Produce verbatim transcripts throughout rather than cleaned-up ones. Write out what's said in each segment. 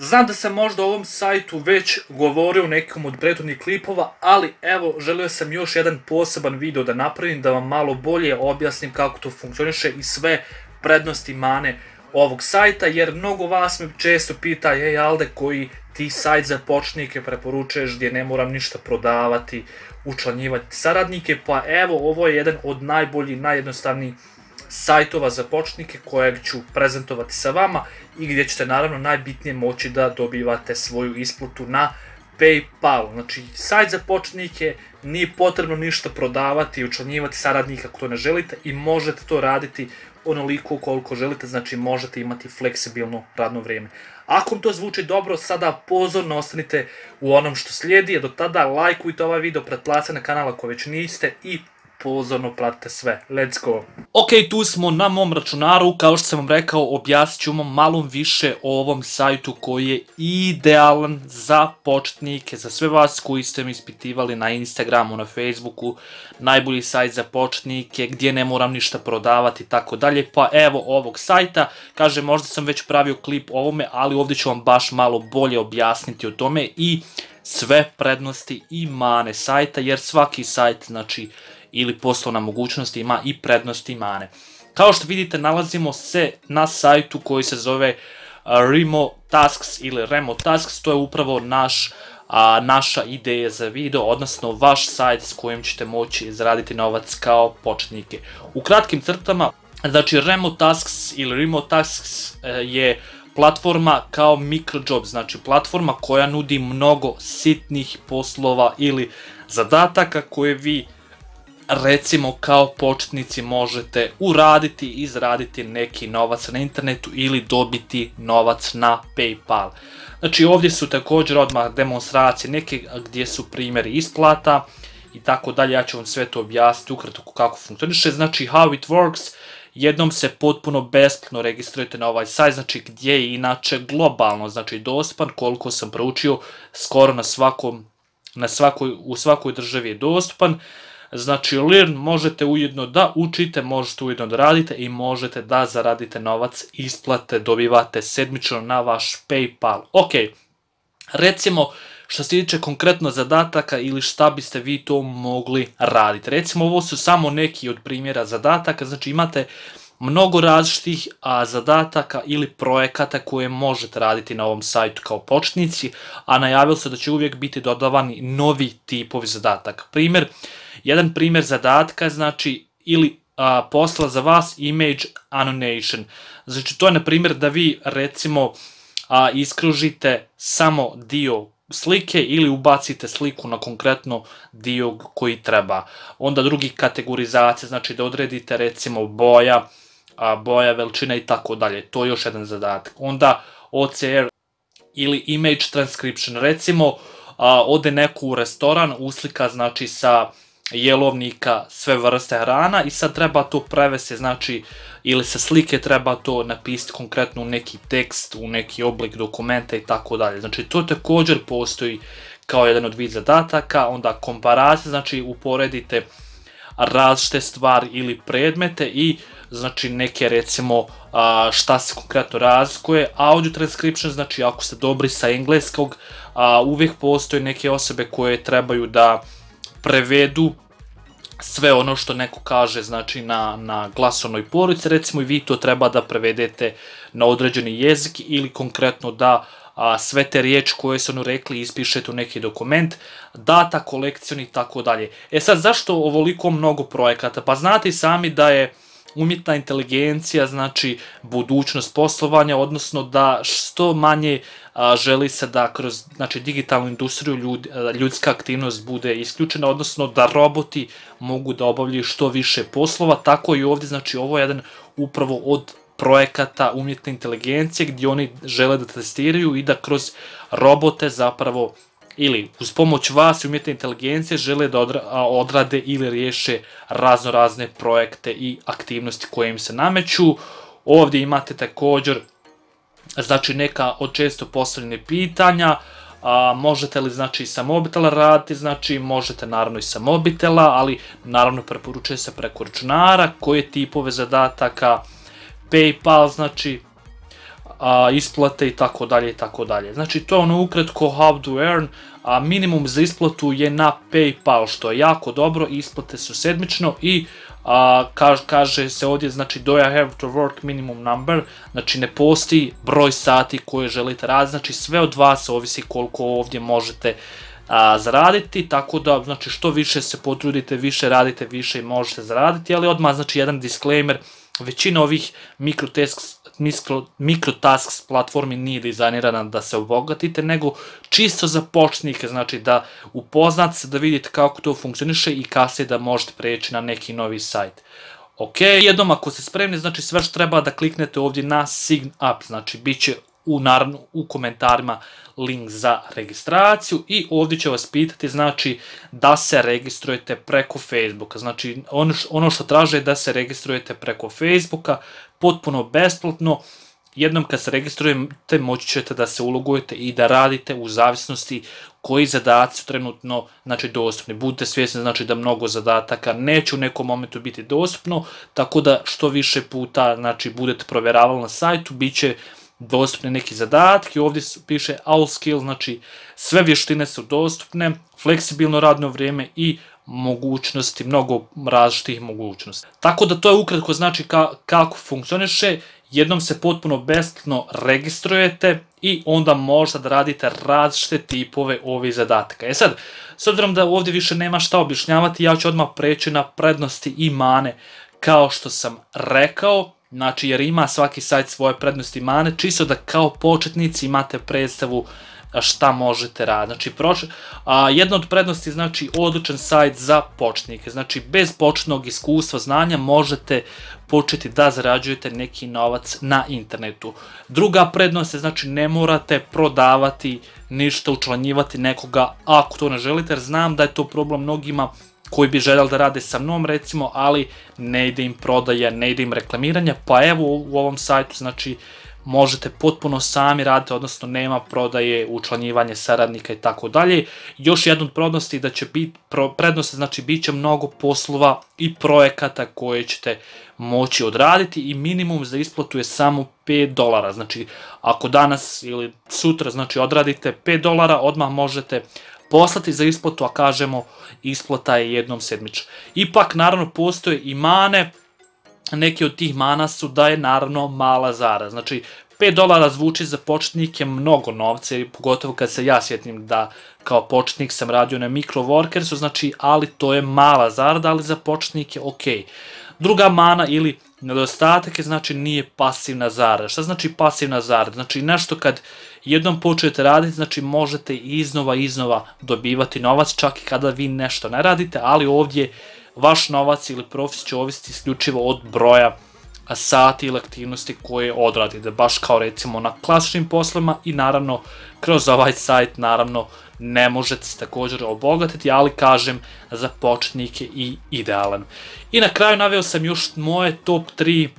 Znam da sam možda o ovom sajtu već govorio u nekom od prethodnih klipova, ali evo, želio sam još jedan poseban video da napravim, da vam malo bolje objasnim kako to funkcioniše i sve prednosti i mane ovog sajta, jer mnogo vas me često pita, ej Alde, koji ti sajt za početnike preporučuješ gdje ne moram ništa prodavati, učlanjivati saradnike, pa evo, ovo je jedan od najboljih, najjednostavnijih sajtova za početnike kojeg ću prezentovati sa vama i gdje ćete naravno najbitnije moći da dobivate svoju isplatu na PayPal. Znači, sajt za početnike, nije potrebno ništa prodavati i učlanjivati saradnika ako to ne želite i možete to raditi onoliko koliko želite, znači možete imati fleksibilno radno vrijeme. Ako vam to zvuči dobro, sada pozorno ostanite u onom što slijedi, a do tada lajkujte ovaj video, pretplatite na kanal ako već niste i pozorno pratite sve. Let's go! Ok, tu smo na mom računaru, kao što sam vam rekao, objasnit ću vam malo više o ovom sajtu koji je idealan za početnike, za sve vas koji ste mi ispitivali na Instagramu, na Facebooku, najbolji sajt za početnike, gdje ne moram ništa prodavati i tako dalje, pa evo ovog sajta, kaže možda sam već pravio klip o ovome, ali ovdje ću vam baš malo bolje objasniti o tome i sve prednosti i mane sajta, jer svaki sajt, znači, ili poslovna mogućnost ima i prednosti i mane. Kao što vidite, nalazimo se na sajtu koji se zove Remo Tasks ili Remo Tasks, to je upravo naš, a, naša ideja za video, odnosno vaš sajt s kojim ćete moći zaraditi novac kao početnike. U kratkim crtama, znači Remo Tasks ili Remo Tasks je platforma kao microjob, znači platforma koja nudi mnogo sitnih poslova ili zadataka koje vi recimo kao početnici možete uraditi i izraditi neki novac na internetu ili dobiti novac na PayPal. Znači ovdje su također odmah demonstracije neke gdje su primjeri isplata i tako dalje, ja ću vam sve to objasniti ukratko kako funkcioniše. Znači how it works, jednom se potpuno besplatno registrujete na ovaj sajt, znači gdje je inače globalno, znači dostupan, koliko sam proučio, skoro na svakom, na svakoj, u svakoj državi je dostupan. Znači, learn možete ujedno da učite, možete ujedno da radite i možete da zaradite novac, isplate dobivate sedmično na vaš PayPal. Ok, recimo što se tiče konkretno zadataka ili šta biste vi to mogli raditi. Recimo, ovo su samo neki od primjera zadataka, znači imate mnogo različitih a, zadataka ili projekata koje možete raditi na ovom sajtu kao početnici, a najavilo se da će uvijek biti dodavani novi tipovi zadataka. Primjer, jedan primjer zadatka, znači, ili a, posla za vas image annotation. Znači, to je na primjer da vi, recimo, a, iskružite samo dio slike ili ubacite sliku na konkretno dio koji treba. Onda drugi kategorizacija, znači da odredite, recimo, boja, a, boja, veličina i tako dalje. To je još jedan zadatak. Onda O C R ili image transcription. Recimo, a, ode neko u restoran, uslika, znači, sa jelovnika sve vrste hrana i sad treba to prevesti, znači, ili sa slike treba to napisati konkretno u neki tekst, u neki oblik dokumenta i tako dalje. Znači, to također postoji kao jedan od vid zadataka. Onda komparacija, znači uporedite različite stvari ili predmete i znači neke, recimo, šta se konkretno razlikuje. Audio transcription, znači ako ste dobri sa engleskog, uvijek postoje neke osobe koje trebaju da prevedu sve ono što neko kaže, znači na, na glasovnoj pločici, recimo, i vi to treba da prevedete na određeni jezik ili konkretno da a, sve te riječi koje su ono rekli ispišete u neki dokument, data kolekcion i tako dalje. E sad, zašto ovoliko mnogo projekata? Pa znate i sami da je umjetna inteligencija, znači, budućnost poslovanja, odnosno da što manje a, želi se da kroz, znači, digitalnu industriju ljud, ljudska aktivnost bude isključena, odnosno da roboti mogu da obavljaju što više poslova, tako i ovdje, znači, ovo je jedan upravo od projekata umjetne inteligencije gdje oni žele da testiraju i da kroz robote zapravo ili uz pomoć vas i umjetne inteligencije žele da odrade ili riješe razno razne projekte i aktivnosti koje im se nameću. Ovdje imate također, znači, neka od često postavljene pitanja, a, možete li, znači, sa mobitela raditi, znači možete naravno i sa mobitela, ali naravno preporučuje se preko računara, koje tipove zadataka, PayPal, znači a, isplate i tako dalje i tako dalje. Znači to je ono ukratko how to earn, a minimum za isplatu je na PayPal, što je jako dobro, isplate su sedmično i a, kaž, kaže se ovdje, znači do I have to work minimum number, znači ne postoji broj sati koje želite raditi, znači sve od vas ovisi koliko ovdje možete a, zaraditi, tako da znači što više se potrudite, više radite, više možete zaraditi, ali odmah znači jedan disclaimer, većina ovih mikrotasks mikrotasks platformi nije dizajnirana da se obogatite, nego čisto za početnike, znači da upoznate se, da vidite kako to funkcioniše i kasnije da možete preći na neki novi sajt. Ok, jednom ako ste spremni, znači sve što treba da kliknete ovdje na sign up, znači bit će u, naravno, u komentarima link za registraciju i ovdje će vas pitati znači da se registrujete preko Facebooka, znači ono, ono što traže je da se registrujete preko Facebooka, potpuno besplatno. Jednom kad se registrujete moći ćete da se ulogujete i da radite u zavisnosti koji zadaci su trenutno znači, dostupni. Budite svjesni znači, da mnogo zadataka neće u nekom momentu biti dostupno, tako da što više puta znači, budete provjeravali na sajtu, bit će dostupne neki zadatki. Ovdje piše all skills, znači sve vještine su dostupne, fleksibilno radno vrijeme i mogućnosti, mnogo različitih mogućnosti. Tako da to je ukratko znači ka, kako funkcioniše. Jednom se potpuno besplatno registrujete i onda možete da radite različite tipove ovih zadataka. E sad, s obzirom da ovdje više nema šta objašnjavati, ja ću odmah preći na prednosti i mane kao što sam rekao. Znači jer ima svaki sajt svoje prednosti i mane, čisto da kao početnici imate predstavu šta možete raditi. Znači, proč... a, jedna od prednosti znači odličan sajt za početnike. Znači, bez početnog iskustva, znanja možete početi da zarađujete neki novac na internetu. Druga prednost je znači ne morate prodavati ništa, učlanjivati nekoga ako to ne želite, jer znam da je to problem mnogima koji bi željeli da rade sa mnom recimo, ali ne ide im prodaja, ne ide im reklamiranja, pa evo u ovom sajtu znači možete potpuno sami raditi, odnosno nema prodaje, učlanjivanje saradnika i tako dalje. Još jedna od prednosti da će biti prednost, znači bit će mnogo poslova i projekata koje ćete moći odraditi i minimum za isplatu je samo pet dolara. Znači ako danas ili sutra znači odradite pet dolara, odmah možete poslati za isplatu, a kažemo isplata je jednom sedmično. Ipak naravno postoje i mane, neki od tih mana su da je naravno mala zarada. Znači pet dolara zvuči za početnike mnogo novca, pogotovo kad se ja sjetim da kao početnik sam radio na microworkersu, znači ali to je mala zarada, ali za početnike ok. Druga mana ili nedostatak je znači nije pasivna zarada. Šta znači pasivna zarada? Znači nešto kad jednom počnete raditi, znači možete iznova iznova dobivati novac čak i kada vi nešto ne radite, ali ovdje vaš novac ili profit će ovisiti isključivo od broja sati ili aktivnosti koje odradite, baš kao recimo na klasičnim poslovima i naravno kroz ovaj sajt naravno ne možete se također obogatiti, ali kažem za početnike i idealan. I na kraju naveo sam još moje top tri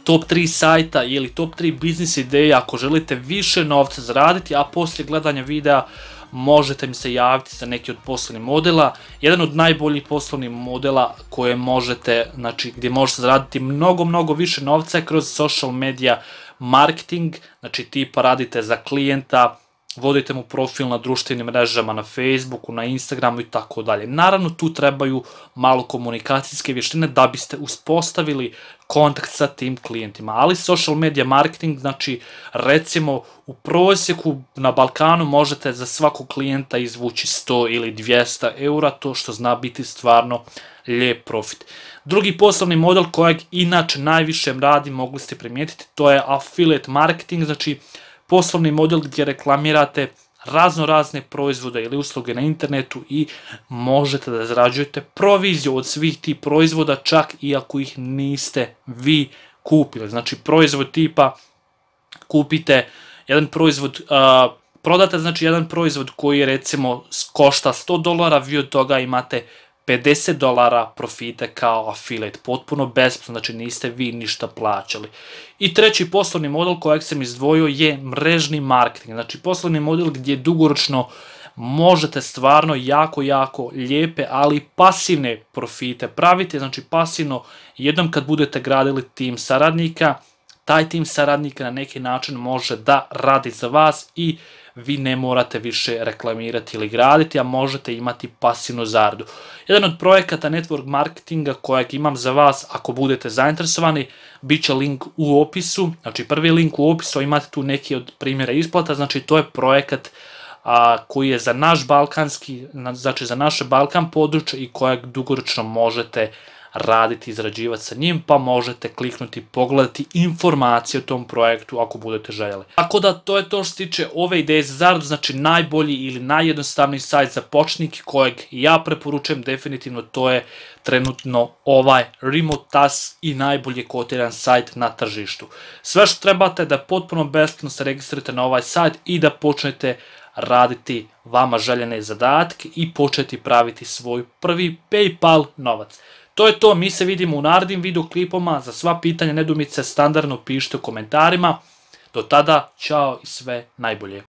top tri sajta ili top tri biznis ideje ako želite više novca zaraditi, a poslije gledanja videa možete mi se javiti za neki od poslovnih modela. Jedan od najboljih poslovnih modela koje možete, znači gdje možete zaraditi mnogo, mnogo više novca je kroz social media marketing, znači tipa radite za klijenta, vodite mu profil na društvenim mrežama, na Facebooku, na Instagramu i tako dalje. Naravno tu trebaju malo komunikacijske vještine da biste uspostavili kontakt sa tim klijentima, ali social media marketing, znači recimo u prosjeku na Balkanu možete za svakog klijenta izvući sto ili dvjesto eura, to što zna biti stvarno lijep profit. Drugi poslovni model kojeg inače najviše radi, mogli ste primijetiti, to je affiliate marketing, znači poslovni model gdje reklamirate razno razne proizvode ili usluge na internetu i možete da zarađujete proviziju od svih tih proizvoda čak i ako ih niste vi kupili. Znači proizvod tipa kupite jedan proizvod, uh, prodate znači jedan proizvod koji recimo košta sto dolara, vi od toga imate pedeset dolara profite kao affiliate, potpuno besplatno, znači niste vi ništa plaćali. I treći poslovni model kojeg sam izdvojio je mrežni marketing, znači poslovni model gdje dugoročno možete stvarno jako, jako lijepe, ali pasivne profite praviti, znači pasivno jednom kad budete gradili tim saradnika, taj tim saradnika na neki način može da radi za vas i vi ne morate više reklamirati ili graditi, a možete imati pasivnu zaradu. Jedan od projekata network marketinga kojeg imam za vas, ako budete zainteresovani, bit će link u opisu, znači prvi link u opisu, imate tu neki od primjera isplata, znači to je projekat a, koji je za naš balkanski, znači za naše Balkan područje i kojeg dugoročno možete raditi, izrađivati sa njim, pa možete kliknuti, pogledati informacije o tom projektu ako budete željeli. Tako da to je to što se tiče ove ideje za zaradu, znači najbolji ili najjednostavniji sajt za početnike kojeg ja preporučujem definitivno, to je trenutno ovaj Remotas i najbolje kotiran sajt na tržištu. Sve što trebate da potpuno besplatno se registrujete na ovaj sajt i da počnete raditi vama željene zadatke i početi praviti svoj prvi PayPal novac. To je to, mi se vidimo u narednim videoklipoma, za sva pitanja, nedoumice standardno pišite u komentarima. Do tada, čao i sve najbolje.